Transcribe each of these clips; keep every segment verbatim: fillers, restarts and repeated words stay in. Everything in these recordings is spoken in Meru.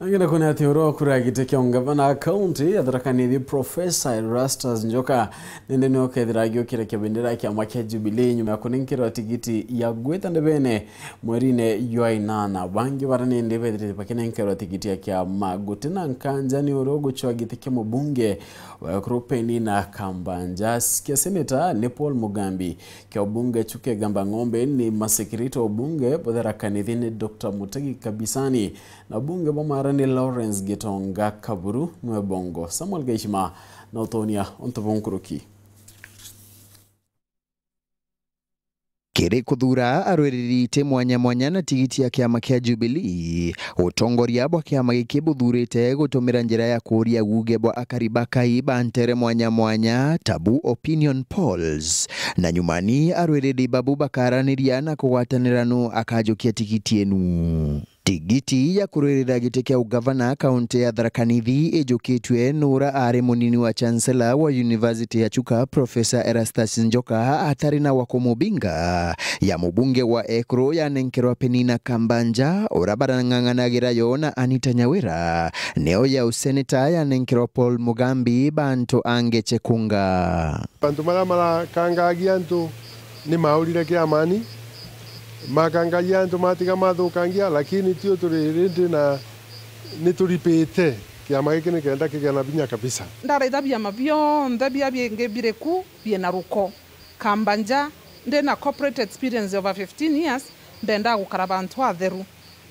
Angina kune ati uro kura giti kia ungavana kaunti ya Tharaka Nithi, Professor Erastus Njoka, nende nio kethira agiukira kia bendera ya kiama kia Jubilee nyuma ya kunenkerwa tigiti ya gwita ndebene mwerine jwa inana. Bangi bara nende bethirite bakinenkerwa tigiti ya kiama. Gutina nkanja ni uro gucwa giti kia mubunge wa Ekuru Penina Kambanja, kia seneta ni Paul Mugambi, kia ubunge Chuka Igamba Ng'ombe ni masekirite ubunge bwa Tharaka Nithi ni Doctor Mutegi Kabisani, na ubunge bwa Maara ni Lawrence Gitonga Kaburu nwe bongo. Samuel Gaishima na utonia untu bunkuruki. Kiri kuthura arwiriri iti mwanya mwanya na tigiti ya kiama kia Jubilee, utongoria bwa kiama giki buthurite gutumira njira ya kuuria guge bwa akari ba Kai ba ntere mwanya mwanya, tabu opinion polls. Na nyumani arwiriri babu bakaraniria na kugwatanira nu akajukia tigiti enu. Tigiti ya kurwirira giti kia ugavana kaunti ya Tharaka Nithi ijukitue nura ari munini wa chancellor wa University ya Chuka, Professor Erastus Njoka, atari na wa kumubinga, ya mubunge wa Ekuru yanenkerwa Penina Kambanja, ura barang'ang'anagira yo na Anita Nyawira, neo ya useneta yanenkerwa Paul Mugambi, bantu ange chekunga. Antu maria marakangagia antu ni maurire kiamani, makangagia antu matiga mathukangia, lakini tio turi rindi na ni turipite kiama giki nikenda kigia na vinya kabisa. Ndaraitha biama bionthe bia bingi biri ku biena ruko. Kambanja, ndi na corporate experience over fifteen years, mbendaa gukara bantu atheru.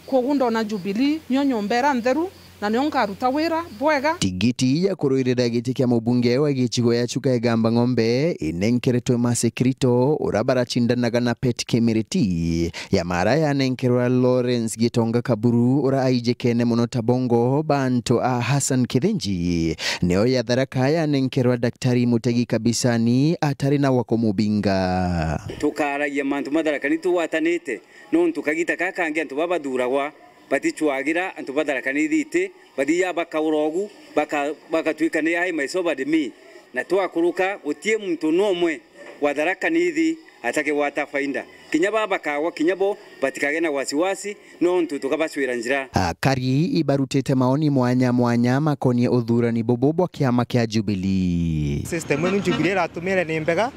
Kwogu ndona Jubilee nio nyomba ira ntheru, na nio nkaruta wira bwega. Tigiti ya kurwirira giti kia mubunge wa gicigo ya Chuka Igamba Ng'ombe inenkeretwe Mercy Kirito, ura baracindanaga na Pet Kimiriti. Ya Maara yanenkerwa Lawrence Gitonga Kaburu, ura aijikene mono ta bongo bantu a Hassan Kithinji. Neo ya Tharaka yanenkerwa Daktari Mutegi Kabisani, atari na wa kumubinga. Tukaragia mantu ma Tharaka Nithi tugwatanite. Nontu kagita gaka kangi antu baba bathuragwa baticwagira, antu ba Tharaka Nithi iti, bathiaga bakaura ugu, baka-, bagatwika ni ai my sovereign me. Na twakuruka, gutie muntu numwe wa Tharaka Nithi atakigwata faida. Kinya baba bakagwa, kinya bo batikage na wasiwasi, nontu tukabacwira njira. Akari ibarutite maoni mwanya mwanya makonie uthurani bubu bwa kiama kia Jubilee. System inu Jubilee iratumire ni mbega.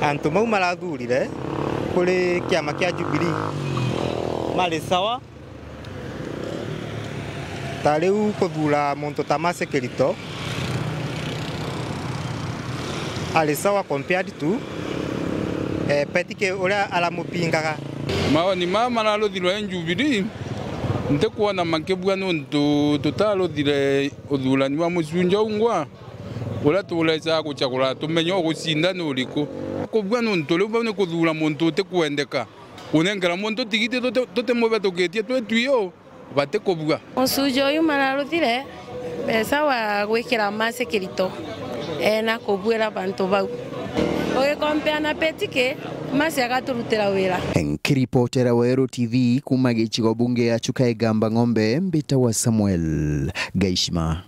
Antu mau marathurire kuri kiama kia Jubilee mari sawa. Ta riu kuthura muntu ta Mercy Kirito ari sawa compared to, eh, Pet Ki-, uria aramupingaga. Maoni maya mararuthirwe ni Jubilee, ntikwona makibua nontu tutaruthire uthurani wa mucunja ungwa. Uria turecaga gucagura tumenye ugucinda ni uriku. Kubua nontu riu bau ni kuthura muntu utikwendeka. Kunenkera muntu tigiti tuti-, tutimubethukitie twi twio, batikubua. Mucunja uyu mararuthire mbeca wa gwikira Mercy Kirito ena kubuira bantu bau. Ugikompea na Pet Ki, Mercy agaturutira wira. Nkiripotera Weru T V kuma gicigo bunge ya Chuka Igamba Ng'ombe, mbita wa Samuel Gaishima.